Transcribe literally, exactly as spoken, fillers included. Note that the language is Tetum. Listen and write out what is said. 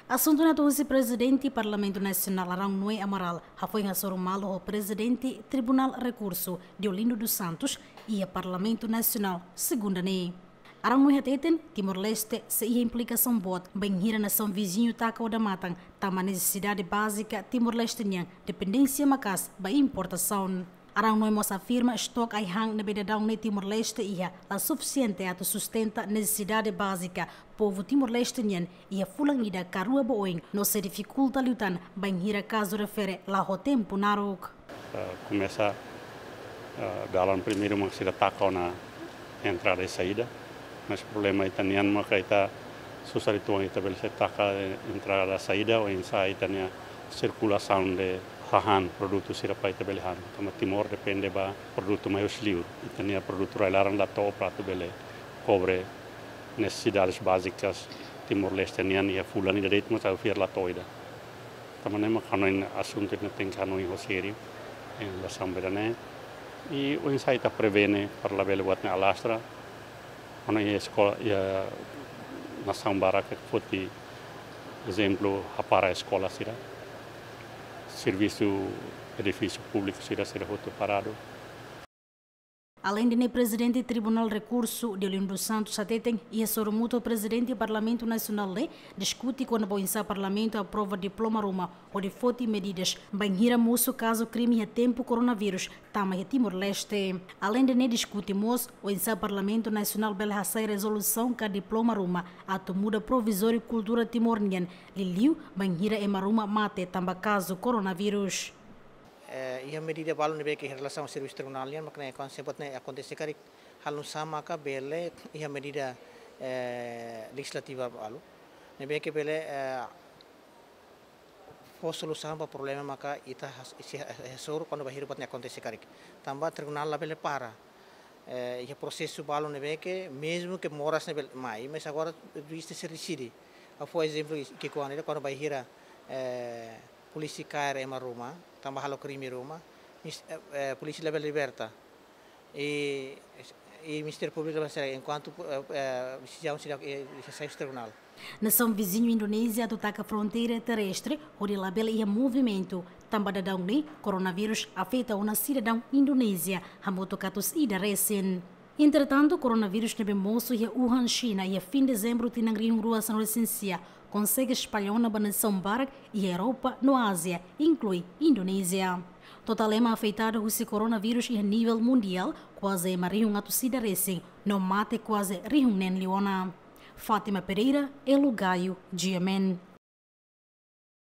Asuntu ne'e atu husi Prezidente Parlamentu Nasionál Arão Noé Amaral hafoin hasoru malu ho Prezidente Tribunál Rekursu Deolindo dos Santos iha Parlamentu Nasionál segunda ne'e. Arão Noé hateten Timor-Leste sei iha implikasaun boot bainhira nasaun viziñu taka odamatan tanba nesesidade bázika Timor-Leste nian dependénsia maka'as ba importasaun. Arão Noé mós afirma estoke ai-han ne'ebé daudaun ne'e Timor-Leste iha la sufisiente atu sustenta nesesidade bázika povu Timor-Leste nian iha fulan ida ka rua ba oin no sei difikulta liután bainhira kazu refere la ho tempu naruk. Eh, komesa, eh, dalan primeiru mak sira taka ona entrada i saida. Mas problema ita-nian maka ita susar uitoan ita bele sei taka, eh, entrada saida, oinsá ita-nia sirkulasaun de hahán produtu sira para ita bele han. Tanba Timor depende ba produtu mai husi liur. Ita-nia produtu rai-laran la to'o para atu bele kobre nesesidades bázikas Timor-Leste nian iha fulan ida de'it mós atu fiar la to'o ida. Tanba ne'e mak hanoin asuntu ne'e tenke hanoin ho sériu iha relasaun ba ida-ne'e. I oinsá ita prevene para labele buat ne'e alastra. Hanoin iha eskola, iha nasaun barak foti ezemplu hapara eskola sira. Servisu edifísiu públiku sira, sira hotu paradu. Aleinde ne'e, Prezidente Tribunál Rekursu Deolindo dos Santos hateten iha sorumutu ho Prezidente Parlamentu Nasionál ne'e diskute kona-ba oinsá Parlamentu aprova diploma ruma hodi foti medidas bainhira mosu kazu krime iha tempu koronavírus tama iha Timor-Leste. Aleinde ne'e diskute mós oinsá Parlamentu Nasionál bele hasai rezolusaun ka diploma ruma atu muda provizóriu kultura Timor nian, liuliu bainhira ema ruma mate tanba kazu koronavírus. Eh, iha medida balu ne'ebé ke iha relasaun servisu tribunál nian, mak ne'e kuandu se buat ne'e akontese karik, halo nu'usá maka bele iha medida, eh, lejizlativa balu ne'ebé ke bele, eh, fó solusaun ba problema maka ita has-, sei ha-, hasoru kuandu bainhira buat ne'e akontese karik. Tanba tribunál labele para. Eh, iha prosesu balu ne'ebé ke, mezmu ke moras ne'e bele mai, mas agora juís sei deside. Ha'u fó ezemplu ki'ikoan ida, kuandu bainhira, eh, polísia kaer ema ruma, tanba halo krime ruma, mis-, eh, eh, polísia labele liberta. I, i Ministériu Públiku labele hasai, enkuantu, eh, eh, desizaun sira, eh, hasai husi tribunál. Nasaun viziñu Indonézia atu taka fronteira terrestre hodi labele iha movimentu, tanba daudaun ne'e koronavírus afeta ona sidadaun Indonézia hamutuk atus ida resin. Entretantu, koronavírus ne'ebé mosu iha Wuhan, Xina, iha fin dezembru tinan rihun rua sanulu resin sia, konsege espalla ona ba nasaun barak iha Europa no Ázia, inklui Indonézia. Totál ema afetadu husi koronavírus iha nivel mundiál kuaze ema rihun atus ida resin, no mate kuaze rihun neen liu ona. Fátima Pereira, Elo Gayo, G M N.